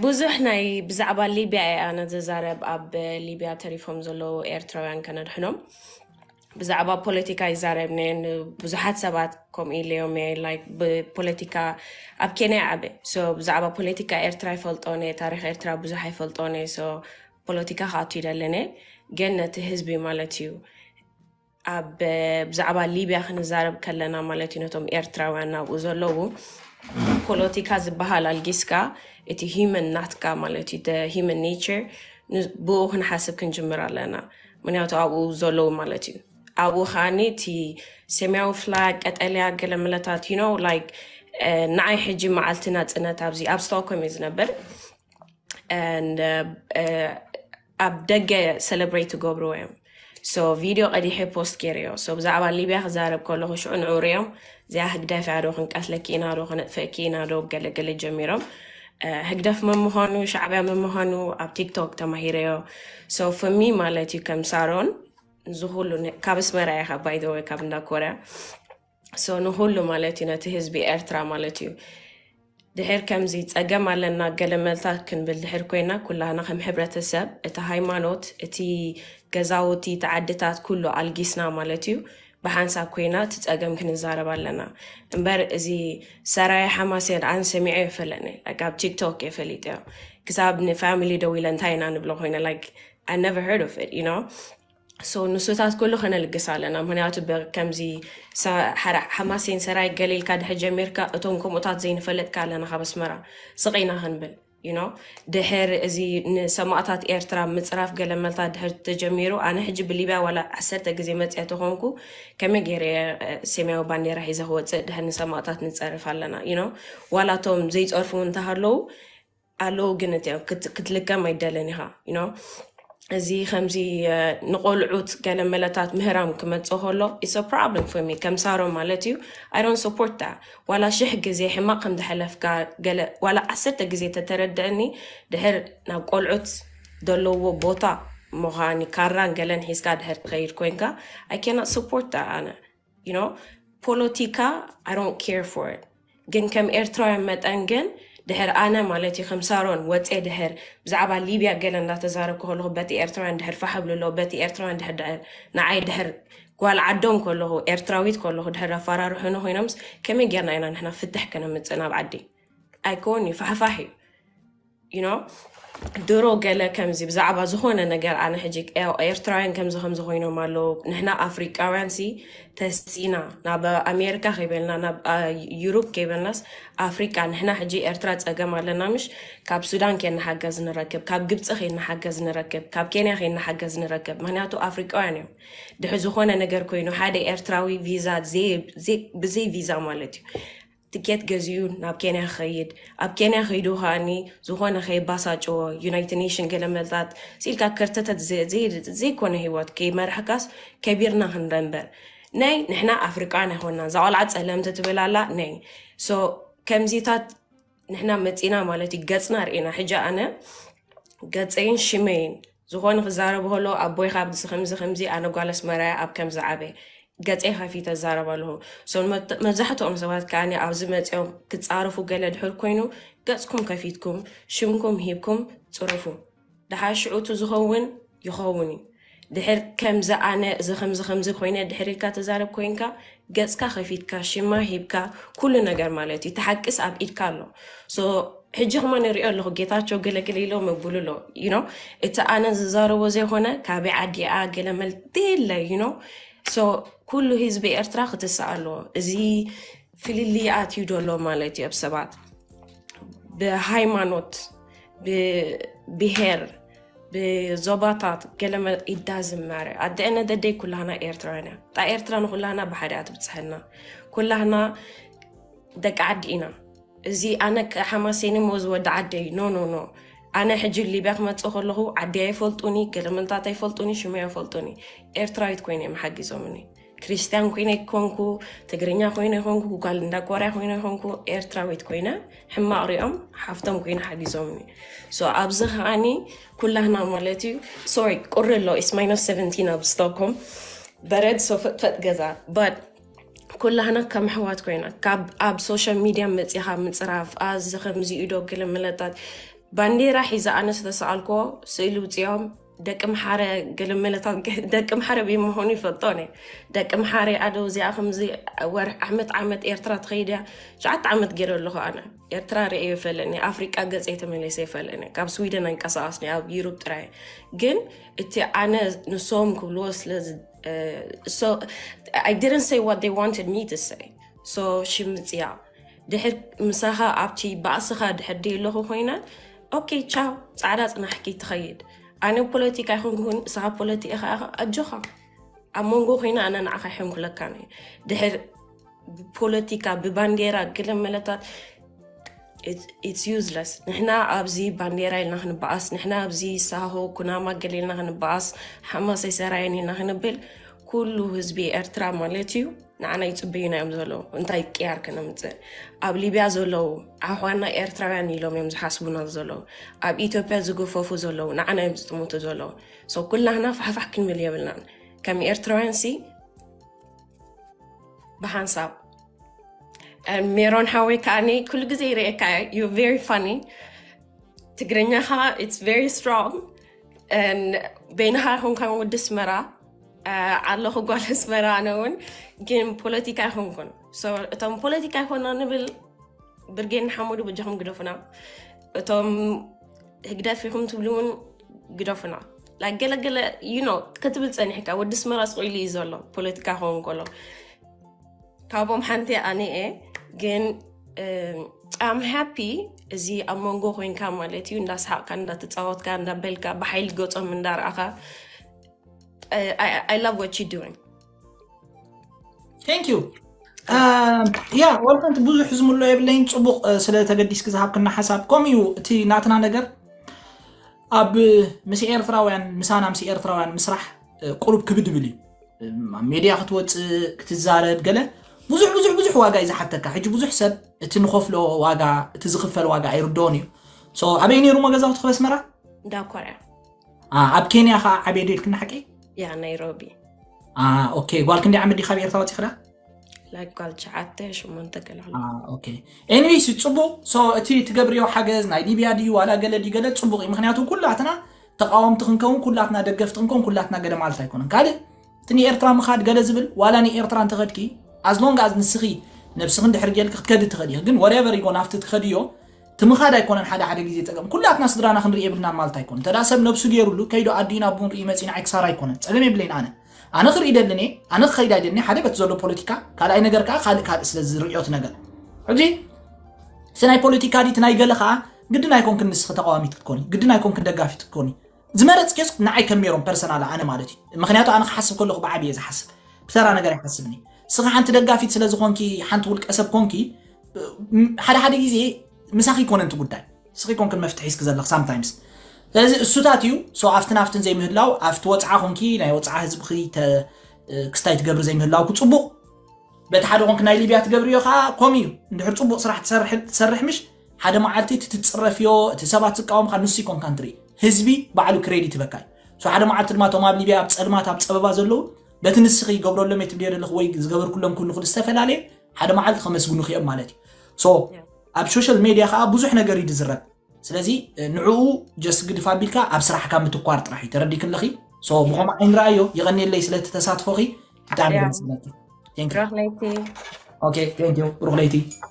ብዙሕ ናይ ብዛዕባ ሊብያ እየ ኣነ ዘዛረብ፣ ኣብ ሊብያ ተሪፎም ዘለዉ ኤርትራውያን ከነድሕኖም። ብዛዕባ ፖለቲካ ይዛረብነ። ብዙሓት ሰባት ከምኡ ኢለዮም እየ፣ ላይክ ብፖለቲካ ኣብ ኬንያ ዓበ። ሶ ብዛዕባ ፖለቲካ ኤርትራ ይፈልጦነ፣ ታሪክ ኤርትራ ብዙሕ ኣይፈልጦነ። ሶ ፖለቲካ ክኣቱ ይደለነ፣ ግን ነቲ ህዝቢ ማለት እዩ። ኣብ ብዛዕባ ሊብያ ክንዛረብ ከለና ማለት እዩ፣ ነቶም ኤርትራውያን ናብኡ ዘለዉ ፖለቲካ ዝበሃል ኣልጊስካ፣ እቲ ሂመን ናትካ ማለት እዩ፣ ሂመን ኔቸር፣ ብኡ ክንሓስብ ክንጅምር ኣለና። ምክንያቱ ኣብኡ ዘለዉ ማለት እዩ። ኣብኡ ከዓኒ እቲ ሰማያዊ ፍላ ቀጠልያ ገለ መለታት you know like ንዓይ ሕጂ መዓልቲ ናጽነት ኣብዚ ኣብ ስቶክሆልም እየ ዝነብር። And ኣብ ደገ ሰለብሬት ይገብርዎ እዮም። ሶ ቪድዮ ቀዲሐ ፖስት ገይረዮ። ሶ ብዛዕባ ሊብያ ክዛረብ ከለኹ ሽዑ ንዑ ሪኦም፣ እዚኣ ህግደፍ እያ ዶ፣ ክንቀትለኪ ኢና ዶ፣ ክነጥፍእኪ ኢና ዶ፣ ገለገለ ጀሚሮም። ህግደፍ መምዃኑ፣ ሻዕብያ መምዃኑ ኣብ ቲክቶክ ተማሂረዮ። ሶ ፍሚ ማለት እዩ ከም ሳሮን ንዝኩሉ ካብ ኣስመራ እየ፣ ካብ ባይዘወ ካብ እንዳ ኮርያ። ሶ ንኩሉ ማለት እዩ፣ ነቲ ህዝቢ ኤርትራ ማለት እዩ። ድሕር ከምዚ ጸገም ኣለና ገለ መልታት ክንብል ድሕር ኮይና፣ ኩላህና ከም ሕብረተሰብ እቲ ሃይማኖት፣ እቲ ገዛውቲ፣ እቲ ዓድታት ኩሉ ኣልጊስና ማለት እዩ። ብሓንሳብ ኮይና እቲ ጸገም ክንዛረብ ኣለና። እምበር እዚ ሰራየ ሓማሴን ኣን ሰሚዐ የፈለኒ፣ like ኣብ ቲክቶክ የፈሊጠዮ። ክሳብ ንፋሚሊ ደዊለ እንታይ ኢና ንብሎ ኮይነ፣ like I never heard of it you know። ሶ ንሱታት ኩሉ ከነልግስ ኣለና። ምክንያቱ ከምዚ ሓማሴን ሰራይ ገሊልካ ድሕር ጀሚርካ፣ እቶም ከምኡታት ዘይንፈልጥካ ኣለና ካብ ኣስመራ ስቕ ኢና ክንብል you know። ድሕር እዚ ንሰማእታት ኤርትራ ምጽራፍ ገለመልታት ድሕር ተጀሚሩ፣ ኣነ ሕጂ ብሊብያ ዋላ ዓሰርተ ግዜ መጽያ ተኾንኩ፣ ከመይ ገይረ ሰማያዊ ባንዴራ ሒዘ ክወጽእ? ድሕር ንሰማእታት ንጸርፍ ኣለና you know። ዋላ እቶም ዘይጸርፉ እንተሃለዉ ኣለዉ፣ ግን እቲ ክትልከም ኣይደልን ኢኻ you know። እዚ ከምዚ ንቆልዑት ገለ መለታት ምህራም ክመጽእ ከሎ it's a problem for me ከም ሳሮን ማለት እዩ። I don't support that። ዋላ ሽሕ ግዜ ሕማቕ ከም ዝሓለፍካ ገለ ዋላ ዓሰርተ ግዜ ተተረድአኒ፣ ድሕር ናብ ቆልዑት ዘለዎ ቦታ ምዃን ካራን ገለን ሒዝካ ድሕር ትኸይድ ኮይንካ፣ I cannot support that ኣነ you know። ፖለቲካ I don't care for it። ግን ከም ኤርትራውያን መጠን ግን ድሕር ኣነ ማለት እዩ ከም ሳሮን ወፀ ድሕር ብዛዕባ ሊብያ ገለ እንዳተዛረብኩ ከለኹ በቲ ኤርትራውያን ድሕር ፋሕ ብልሎ በቲ ኤርትራውያን ድሕር ድሕር ንዓይ ድሕር ጓል ዓዶም ከለኹ ኤርትራዊት ከለኹ ድሕር ኣፈራርሑኒ ኮይኖምስ ከመይ ጌርና ኢና ንሕና ፍትሕ ከነምፅእ ናብ ዓዲ? ኣይኮን እዩ፣ ፋሕፋሕ እዩ። you know ድሮ ገለ ከምዚ ብዛዕባ ዝኾነ ነገር ኣነ ሕጂ ኤርትራውያን ከምዚ ከምዚ ኮይኖም ኣለዉ፣ ንሕና ኣፍሪቃውያን ሲ ተሲና ናብ ኣሜሪካ ከይበልና ናብ ዩሮፕ ከይበልናስ ኣፍሪቃ፣ ንሕና ሕጂ ኤርትራ ጸገም ኣለና ምሽ? ካብ ሱዳን ከይንሓገዝ ንረክብ፣ ካብ ግብፂ ከይንሓገዝ ንረክብ፣ ካብ ኬንያ ከይንሓገዝ ንረክብ። ምክንያቱ ኣፍሪቃውያን እዮም። ድሕ ዝኾነ ነገር ኮይኑ ሓደ ኤርትራዊ ቪዛ ብዘይ ቪዛ ማለት እዩ ትኬት ገዚኡ ናብ ኬንያ ክኸይድ፣ ኣብ ኬንያ ከይዱ ከኣኒ ዝኾነ ከይባሳጭዎ ዩናይትድ ኔሽን ገለ መልታት ስኢልካ ከርተተት ዘይኮነ ህይወት ከይመርሕካስ ከቢርና ክንረ እምበር። ነይ ንሕና ኣፍሪቃን ኣይኮንና፣ እዛ ቆልዓ ጸለምቲ ትብል ኣላ ነይ። ሶ ከምዚታት ንሕና መጺና ማለት እዩ፣ ገጽና ርኢና። ሕጂ ኣነ ገጸይን ሽመይን ዝኾነ ክዛረብ ከሎ ኣቦይ ካብ ከምዚ ከምዚ ኣነ ጓል ኣስመራያ ኣብ ከምዚ ዓበ ገጸይ ከፊተ እዛረብ ኣለኹ። ሶ መብዛሕትኦም ሰባት ከኣ ኣብዚ መጺኦም ክጻረፉ ገለ ድሕር ኮይኑ ገጽኩም ከፊትኩም ሽምኩም ሂብኩም ጽረፉ። ደሓር ሽዑቱ ዝኸውን ይኸውን እዩ። ድሕር ከምዚ ኣነ እዚ ከምዚ ከምዚ ኮይነ ድሕር ኢልካ ተዛረብ ኮይንካ ገጽካ ከፊትካ ሽማ ሂብካ ኩሉ ነገር ማለት እዩ። ተሓቅስ ኣብ ኢድካ ኣሎ። ሶ ሕጂ ክማ ንሪኦ ኣለኹ ጌታቸው ገለገለ ኢሎ መብሉ ኣሎ you know። እቲ ኣነ ዝዛረቦ ዘይኮነ ካበይ ዓዲኣ ገለ መልቲ የለ you know። ሶ ኩሉ ህዝቢ ኤርትራ ክትስእ ኣለዎ። እዚ ፍልልይ ኣትዩ ደሎ ማለት እዩ ኣብ ሰባት ብሃይማኖት ብብሄር ብዞባታት ገለመ ኢዳዝም ማረ ኣደአነ ደደይ ኩላህና ኤርትራውያን እያ። ጣ ኤርትራ ንኩላህና ብሓደ እያ ትብጽሐና። ኩላህና ደቂ ዓዲ ኢና። እዚ ኣነ ሓማሴን እሞ ዝወዲ ዓደይ ኖ ኖ ኖ። ኣነ ሕጂ ሊብያ ክመጽእ ከለኹ ዓዲ ኣይፈልጡኒ፣ ገለመልታት ኣይፈልጡኒ፣ ሽመይ ኣይፈልጡኒ። ኤርትራዊት ኮይነ እዮም ሓጊዞምኒ። ክርስቲያን ኮይነ ይኮንኩ፣ ትግርኛ ኮይነ ይኮንኩ፣ ጓል እንዳ ኮርያ ኮይነ ይኮንኩ፣ ኤርትራዊት ኮይነ ሕማቕ ሪኦም ሓፍቶም ኮይነ ሓጊዞምኒ። ሶ ኣብዚ ከዓኒ ኩላህና ማለት እዩ። ሶሪ ቁሪ ኣሎ፣ it's minus seventeen ኣብ ስቶክሆልም በረድ። ሶ ፈጥፈጥ ገዛ but ኩላህና ከም ኣሕዋት ኮይና ካብ ኣብ ሶሻል ሚድያ መፂኻ ምፅራፍ ኣዚ ከምዚኡ ዶ ገለ መለታት ባንዴራ ሒዛ ኣነ ዝተሰኣልኮ ስእሊ ውፅኦም ደቂ ምሓረ ገለ መለታት ደቂ ምሓረ ብመሆኑ ይፈልጦ ነ ደቂ ምሓረ ኣደው እዚኣ ከምዚ ወርሕ ዓመት ዓመት ኤርትራ ትኸይድ እያ። ሸዓተ ዓመት ገይረ ኣለኹ ኣነ ኤርትራ ርእዮ ይፈልኒ ኣፍሪቃ ገፀ የተመለሰ ይፈልኒ ካብ ስዊደን ኣይንቀሳቀስኒ ኣብ ዩሮፕ ጥራይ ግን እቲ ኣነ ንሶም ክብልዎ ስለ I didn't say what they wanted me to say. So ሽምፅያ ድሕር ምሳኻ ኣብቲ ባእስኻ ድሕር ደየለኹ ኮይነ ኦኬ ቻው ፃዕዳ ፅናሕኪ ትኸይድ። ኣነ ፖለቲካ ይኹንኩን ንስኻ ፖለቲካ ኢኻ ኣጆኻ ኣብ መንጎ ኮይነ ኣነ ንዓኻ ይሕንኩለካ ነ ድሕር ብፖለቲካ ብባንዴራ ገለ መለታት it's useless። ንሕና ኣብዚ ባንዴራ ኢልና ክንበኣስ ንሕና ኣብዚ ሳሆ ኩናማ ገለ ኢልና ክንበኣስ ሓማሰይ ሰራየን ኢልና ክንብል ኩሉ ህዝቢ ኤርትራ ማለት እዩ ንዓና ይፅበዩና እዮም ዘለዉ። እንታይ ቅያር ከነምፅእ ኣብ ሊብያ ዘለዉ ኣሕዋና ኤርትራውያን ኢሎም እዮም ዝሓስቡና ዘለዉ። ኣብ ኢትዮጵያ ዝገፈፉ ዘለዉ ንዓና እዮም ዝጥምቱ ዘለዉ። So ኩላህና ፋሕፋሕ ክንብል የብልናን ከም ኤርትራውያን ሲ ብሓንሳብ ሜሮን ሓወይ ከዓኒ ኩሉ ግዜ ይርእየካ you very funny ትግርኛኻ it's very strong በይንኻ ይኹንካ ወዲ ኣስመራ ኣለኹ ጓል ኣስመራ ኣነ እውን ግን ፖለቲካ ኣይኮንኩን እቶም ፖለቲካ ኣይኮና ንብል ብርጌድ ንሓመዱ በጃኹም ግደፉና እቶም ህግደፍ ኢኹም ትብሉ እውን ግደፉና ገለገለ you know ክትብል ፀኒሕካ ወዲ ኣስመራ ስቕ ኢሉ እዩ ዘሎ ፖለቲካ ክኸውን ከሎ ካብኦም ሓንቲ ኣነ እየ ግን I'm happy እዚ ኣብ መንጎ ኮይንካ ማለት እዩ እንዳስሓቕካ እንዳተፃወትካ እንዳበልካ ብሓይሊ ገፆም እንዳረኣኻ I love what you doing thank you yeah ወልከንቲ ብዙሕ ዝምሎ የብለይን ፅቡቕ ስለተገዲስክ ዝሃብክና ሓሳብ ከምኡ እዩ እቲ ናትና ነገር ኣብ ምስ ኤርትራውያን ምሳና ምስ ኤርትራውያን ምስራሕ ቁሩብ ክብድ ብል እዩ ኣብ ሜድያ ክትወፅእ ክትዛረብ ገለ ብዙሕ ብዙሕ ብዙሕ ዋጋ እዩ ዝሓተካ ሕጂ ብዙሕ ሰብ እቲ ንኸፍሎ ዋጋ እቲ ዝኽፈል ዋጋ ኣይርድኦን እዩ ኣበይ ነይሩ መገዛውቲ ክበስመራ እንዳኮርያ ኣብ ኬንያ ከዓ ዓብየ ዶ ኢልክና ሓቂ ያ ናይሮቢ ኦኬ ጓል ክንደይ ዓመት ዲካ ኣብ ኤርትራ ወፂኽዳ ላይክ ጓል ትሽዓተ ሸሞንተ ገለ ኦኬ ኤኒዌይስ ፅቡቅ ሶ እቲ ትገብርዮ ሓገዝ ናይ ሊብያ ድዩ ዋላ ገለ ድዩ ገለ ፅቡቅ እዩ ምክንያቱ ኩላትና ተቃወምቲ ክንከውን ኩላትና ደገፍቲ ክንከውን ኩላትና ገለ ማለት ኣይኮነን ካልእ እቲ ንኤርትራ ምኻድ ገለ ዝብል ዋላ ንኤርትራ እንተኸድኪ ኣዝሎንግ ኣዝ ንስኺ ነብስኺ እንድሕር ጌልኪ ክትከዲ ትኸዲ ኢኺ ግን ወሬቨር ይጎን ኣብቲ ትኸድዮ እቲ ምኻድ ኣይኮነን ሓደ ሓደ ግዜ ፀገም ኩላትና ስድራና ክንርኢ የብልናን ማለት ኣይኮነን እንተ ሰብ ነብሱ ገይሩሉ ከይዶ ኣዲኡ ናብ ቡን ርኢ መፂና ኣይክሳራ ኣይኮነን ፀገም የብለይን ኣነ ኣነ ክርኢ ደልን እየ ኣነ ክኸይድ ኣይደልን ሓደ በቲ ዘሎ ፖለቲካ ካልኣይ ነገር ከዓ ካልእ ካልእ ስለ ዝርእዮ እቲ ነገር ሕጂ እቲ ናይ ፖለቲካ ዲ እቲ ናይ ገለ ከዓ ግድን ኣይኮንክን ንስኺ ተቃዋሚት ክትኮኒ ግድን ኣይኮንክን ደጋፊት ክትኮኒ ዝመረፅክዮስ ንዓይ ከም ሜሮን ፐርሰናል ኣነ ማለት እዩ ምክንያቱ ኣነ ክሓስብ ከለኹ ብዓብየ ዝሓስብ ብተራ ነገር ኣይሓስብኒ ስኺ ሓንቲ ደጋፊት ስለ ዝኾንኪ ሓንቲ ውልቀ ሰብ ኮንኪ ሓደ ሓደ ግዜ ምሳኺ ይኮነ እቲ ጉዳይ ስኺ ኮንክን መፍትሒ ስኪ ዘለኽ ሳምታይምስ ስለዚ እሱታት እዩ ሶ ኣብትን ኣብትን ዘይምህላው ኣብቲ ወፅዓ ኮንኪ ናይ ወፅዓ ህዝብኺ ክስታይ ትገብሪ ዘይምህላው ክፅቡቕ በቲ ሓደ ኮንክ ናይ ሊብያ ትገብርዮ ከዓ ከምኡ እዩ እንድሕር ፅቡቅ ስራሕ ትሰርሕ ምሽ ሓደ መዓልቲ እቲ ትፅረፍዮ እቲ ሰባት ዝቃወምካ ንሱ ይኮንካ እንትርኢ ህዝቢ ባዕሉ ክሬዲት ይበካ እዩ ሓደ መዓልቲ ድማ እቶም ኣብ ሊብያ ኣብ ፀልማት ኣብ ፀበባ ዘለዉ በቲ ንስኺ ይገብረሎም እየ ትብልዮ ዘለኹ ወይ ዝገበርኩሎም ኩሉ ክል ዝተፈላለየ ሓደ መዓልቲ ከመስግኑኽ እዮም ማለት እዩ ኣብ ሶሻል ሜድያ ከዓ ብዙሕ ነገር እዩ ዝዝረብ ስለዚ ንዕኡ ጀስት ግድፍ ኣቢልካ ኣብ ስራሕካ ምትኳር ጥራሕ እዩ ተረዲክ ኣለኺ ብኸምኡ ዓይንረኣዮ ይቐኒየለይ ስለቲ ተሳትፎኺ ብጣዕሚ ደስ ይብለኪ ረኽለይቲ ኦኬ ቴንክ ዩ ብሩኽ ለይቲ